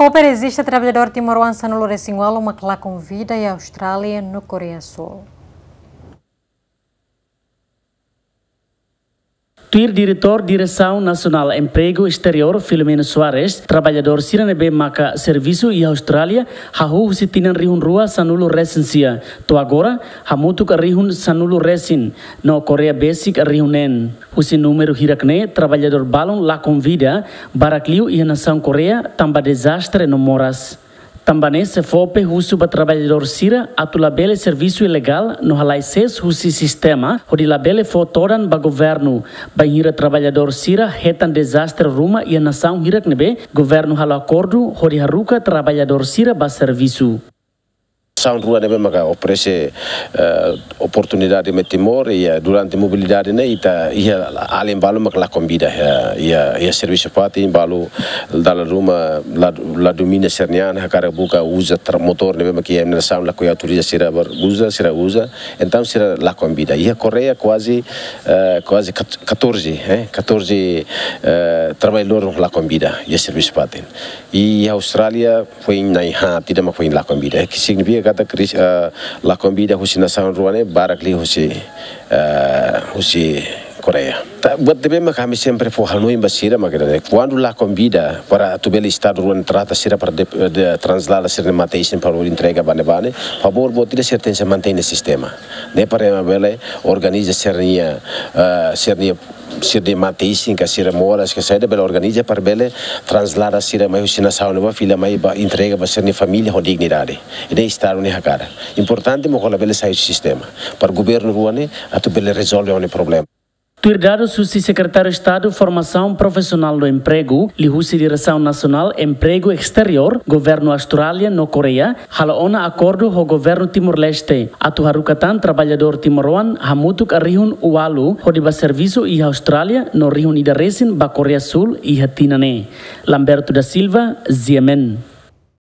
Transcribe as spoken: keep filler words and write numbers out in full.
Fope rejista traballadór timoroan sanulu-resin-ualu mak lakon vida iha Austrália no Koreia Súl. Tuir Diretór Diresaun Nasionál Empregu Esteriór, Filomeno Soares, traballadór sira ne'ebé maka servisu iha Austrália hahú husi tinan rihun rua sanulu-resin-sia, to'o agora hamutuk rihun sanulu-resin, no Koreia besik rihun neen. Husi númeru hirak-ne'e, traballadór balun lakon vida, barak liu iha nasaun Koreia, tanba dezastre no moras. Tanba ne'e, SEFOPE husu ba traballadór sira atu labele servisu ilegál no halai sees husi sistema, hodi labele fó todan ba governu, bainhira traballadór sira hetan dezastre ruma iha nasaun hirak ne'ebé governu halo akordu hodi haruka traballadór sira ba servisu. Nasaun rua ne'ebé maka oferese, eh, oportunidade mai Timor, i, eh, durante mobilidade ne'e ita iha alin balu maka lakon vida, eh, iha, iha servisu fatin, balu dala ruma la, la domina sira-nia an, hakarak buka uza tra-, motór ne'ebé maka iha nasaun lakohi autoriza sira ba uza, sira uza. Entaun sira lakon vida. Iha Koreia kuaze, eh, kuaze kat-, katorze, eh, katorze, eh, traballadór lakon vida iha servisu fatin. I iha Austrália foin na'in-haat ida mak foin lakon vida. Ke signifika katak kris-, eh, lakon vida husi nasaun rua ne'e barak liu husi, eh, husi Koreia. Tanba ne'e mak ami sempre fó hanoin ba sira mak ne'e. Kuandu lakon vida para atu bele Estadu rua ne'e trata sira para de, de translada sira-nia mate-isin para entrega ba ne'ebá ne'e, favór boot ida sira tenke mantein sistema. Ne'e para bele organiza sira-nia, eh, sira-nia sira-nia mate-isin ka sira moras ka saida bele organiza para bele translada sira mai husi nasaun ne'ebá fila mai ba entrega ba sira-nia família ho dignidade. I ne'e Estadu nia hakarak. Importante mak labele sai husi sistema. Para governu rua ne'e atu bele rezolve nia problema. Tuir dadus husi Sekretáriu Estadu Formasaun Profisionál no Empregu, liuhusi Diresaun Nasionál Empregu Esteriór, governu Austrália no Koreia halo ona akordu ho governu Timor-Leste atu haruka tan traballadór timoroan hamutuk rihun ualu hodi ba servisu iha Austrália no rihun ida resin ba Koreia Súl iha tinan ne'e. Lamberto da Silva, G M N.